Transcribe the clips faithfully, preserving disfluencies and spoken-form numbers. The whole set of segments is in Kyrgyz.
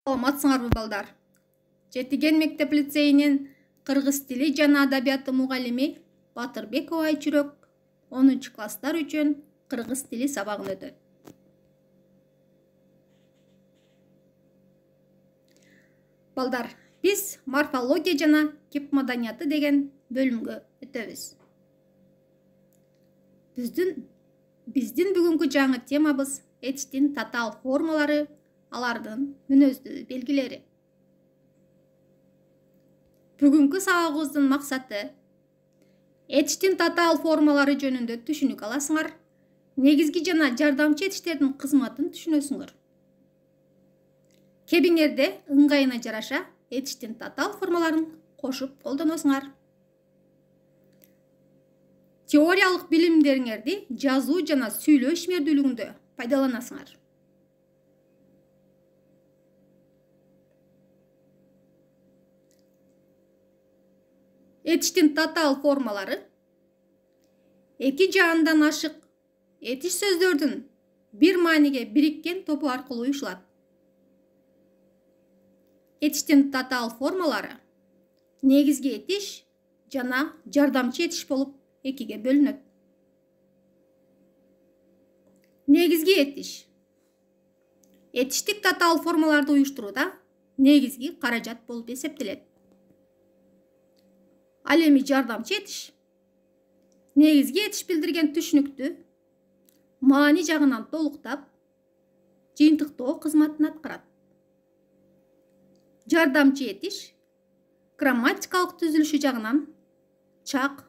Саламатсыңарбы балдар? Жетиген мектеп лицейинин кыргыз тили жана адабияты мугалими Батырбекова Айчүрөк онунчу класстар үчүн кыргыз тили сабагын өтөт. Балдар, биз морфология жана кеп маданияты деген бөлүмгө өтөбүз. Биздин биздин бүгүнкү жаңы темабыз этичтин татаал формалары, алардын мүнөздүү белгилери. Бүгүнкү сабагыбыздын максаты этичтин татаал формалары жөнүндө түшүнүк аласыңар, негизги жана жардамчы этичтердин кызматын түшүнөсүңөр. Кебиңерде ыңгайына жараша этичтин татаал формаларын кошуп колдоносуңар. Теориялык билимдериңерди жазуу жана сүйлөө ишмердүүлүгүндө пайдаланасыңар. Этичтин татаал формалары эки жаандан ашык этиш сөздөрдүн бир мааниге бириккен тобу аркылуу уюшулат. Этичтин татаал формалары негизги этиш жана жардамчы этиш болуп экиге бөлүнөт. Негизги этиш этиштик татаал формаларды уюштурууда негизги каражат болуп эсептелет. Ал эми жардамчы этиш негизги этиш билдирген түшүнүктү маани жагынан толуктап, жыйынтыктоо кызматын аткарат. Жардамчы этиш грамматикалык түзүлүшү жагынан чак,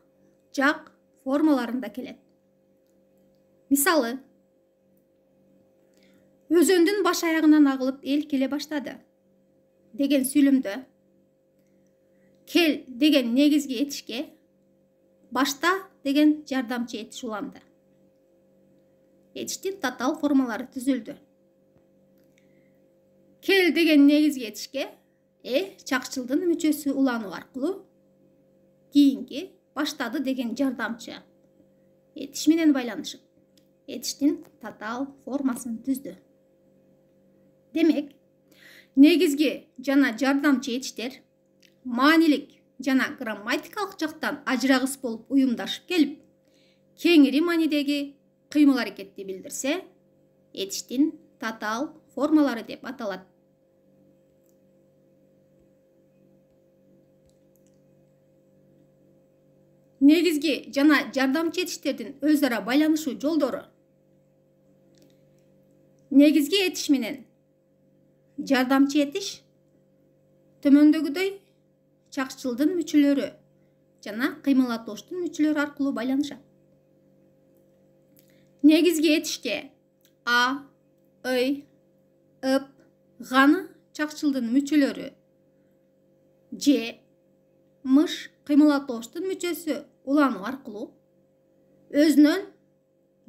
жак формаларында келет. Мисалы, өзөндүн баш аягынан агылып эл келе баштады деген сүйлөмдө кел деген негизги этишке башта деген жардамчы этиш уланды. Этичтин татаал формалары түзүлдү. Кел деген негизги этишке э чакчылдын мүчөсү улануу аркылуу кийинки баштады деген жардамчы этиш менен байланышып этичтин татаал формасын түздү. Демек, негизги жана жардамчы этиштер маанилик жана грамматикалык жактан ажырагыс болуп уюмдашып келип, кеңири маанидеги кыймыл-аракетти билдирсе, этичтин татаал формалары деп аталат. Негизги жана жардамчы этиштердин өз ара байланышуу жолдору. Негизги этиш менен жардамчы этиш төмөндөгүдөй чакчылдын мүчөлөрү жана кыймылдатооштун мүчөлөрү аркылуу байланышат. Негизги этишке а, ый, ып, ганы чакчылдын мүчөлөрү же мыш кыймылдатооштун мүчөсү улануу аркылуу өзүнөн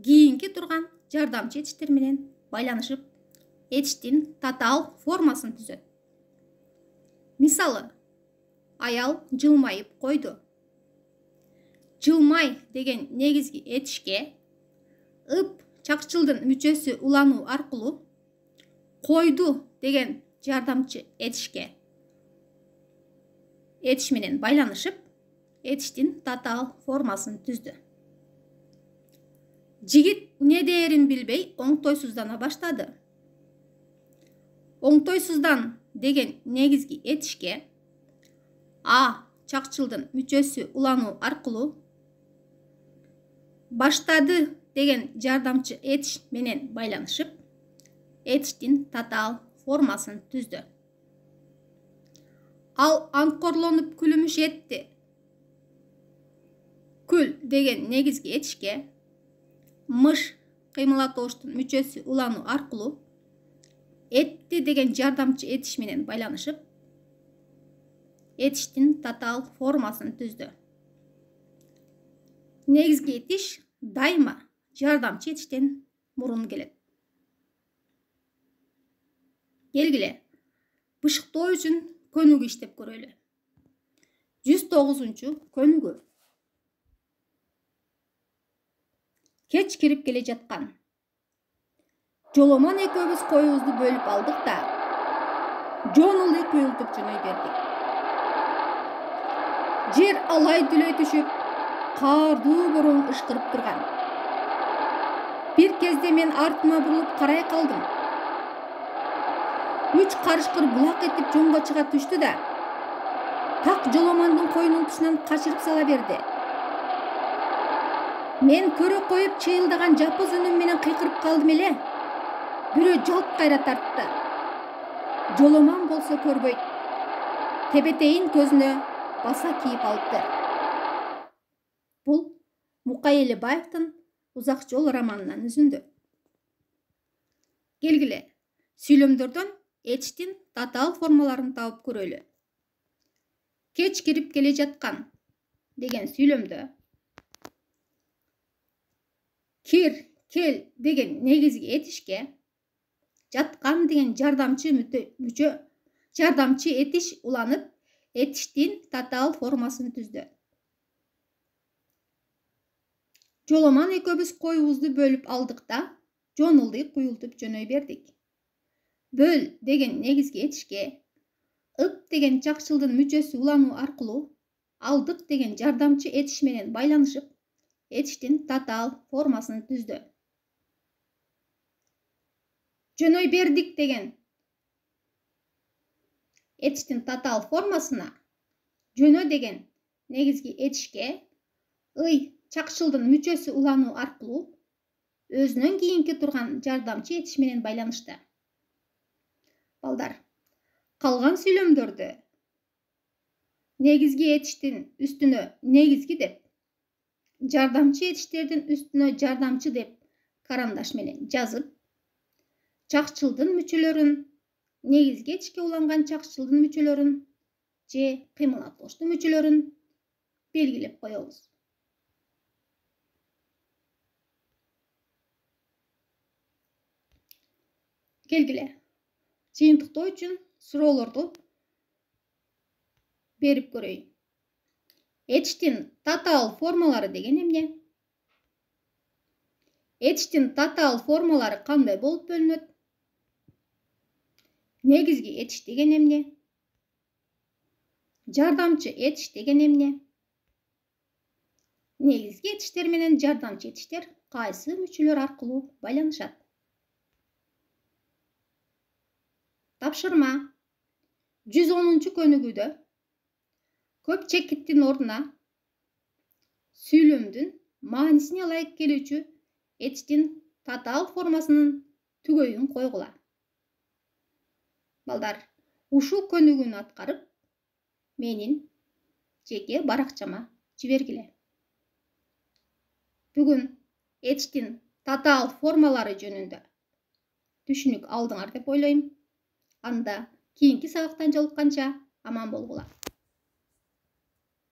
кийинки турган жардамчы этиштер менен байланышып этичтин татаал формасын түзөт. Мисалы, аял жылмайып койду. Жылмай деген негизги этишке ып чакчылдын мүчөсү улануу аркылуу койду деген жардамчы этишке этиш менен байланышып этичтин татаал формасын түздү. Жигит эмне дээрин билбей оңтойсуздана баштады. Оңтойсуздан деген негизги этишке а чакчылдын мүчөсү улануу аркылуу баштады деген жардамчы этиш менен байланышып этичтин татаал формасын түздү. Ал аңкорлонуп күлүмүш этти. Күл деген негизги этишке мыш кыймылдатооштун мүчөсү улануу аркылуу этти деген жардамчы этиш менен байланышып этичтин татаал формасын түздү. Негизги этиш дайыма жардамчы этиштен мурун келет. Келгиле, бышыктоо үчүн көнүгүү иштеп көрөлү. жүз тогузунчу көнүгүү. Кеч кирип келе жаткан. Жоломон экөөбүз коюбузду бөлүп алдык да жонули куюлтуп жөнөй бердик. Жер алай дүлөй түшүп, каардуу бороон ышкырып турган. Бир кезде мен артыма бурулуп карай калдым. Үч карышкыр булак этип жоңго чыга түштү да, так Жоломондун койнунун тушунан качырып сала берди. Мен көрө коюп чыйылдаган жапыз үнүм менен кыйкырып калдым эле. Бирөө жалп кайра тартты. Жоломон болсо көрбөйт. Тебетейин көзүнө баса кийип алыптыр. Бул Мукай Элибаевдин Узак жол романынан үзүндү. Келгиле, сүйлөмдөрдөн этичтин татаал формаларын таап көрөлү. Кеч кирип келе жаткан деген сүйлөмдө кир, кел деген негизги этишке жаткан деген жардамчы мүчө жардамчы этиш уланып, этиштин татаал формасын түздү. Жоломон экөөбүз коюбузду бөлүп алдык да, жонули куюлтуп жөнөй бердик. Бөл деген негизги этишке ып деген чакчылдын мүчөсү улануу аркылуу алдык деген жардамчы этиш менен байланышып, этиштин татаал формасын түздү. Жөнөй бердик деген этиштин татаал формасына жөнө деген негизги этишке ый чакчылдын мүчөсү улануу аркылуу өзүнөн кийинки турган жардамчы этиш менен байланышты. Балдар, калган сүйлөмдөрдө негизги этиштин үстүнө негизги деп, жардамчы этиштердин үстүнө жардамчы деп карандаш менен жазып, чакчылдын мүчөлөрүн, негизги этишке уланган чакчылдын мүчөлөрүн же кыймыл аткылыштуу мүчөлөрүн белгилеп коебуз. Келгиле, жыйынтыктоо үчүн суроолорду берип көрөйүн. Этиштин татаал формалары деген эмне? Этиштин татаал формалары кандай болуп бөлүнөт? Негизги этиш деген эмне? Жардамчы этиш деген эмне? Негизги этиштер менен жардамчы этиштер кайсы мүчөлөр аркылуу байланышат? Тапшырма. жүз онунчу көнүгүүдө көп чекиттин ордуна сүйлөмдүн маанисине ылайык келүүчү этиштин татаал формасынын түгөйүн койгула. Балдар, ушул көнүгүүнү аткарып, менин жеке баракчама жибергиле. Бүгүн этиштин татаал формалары жөнүндө түшүнүк алдыңар деп ойлойм. Анда кийинки сабактан жолукканча аман болгула.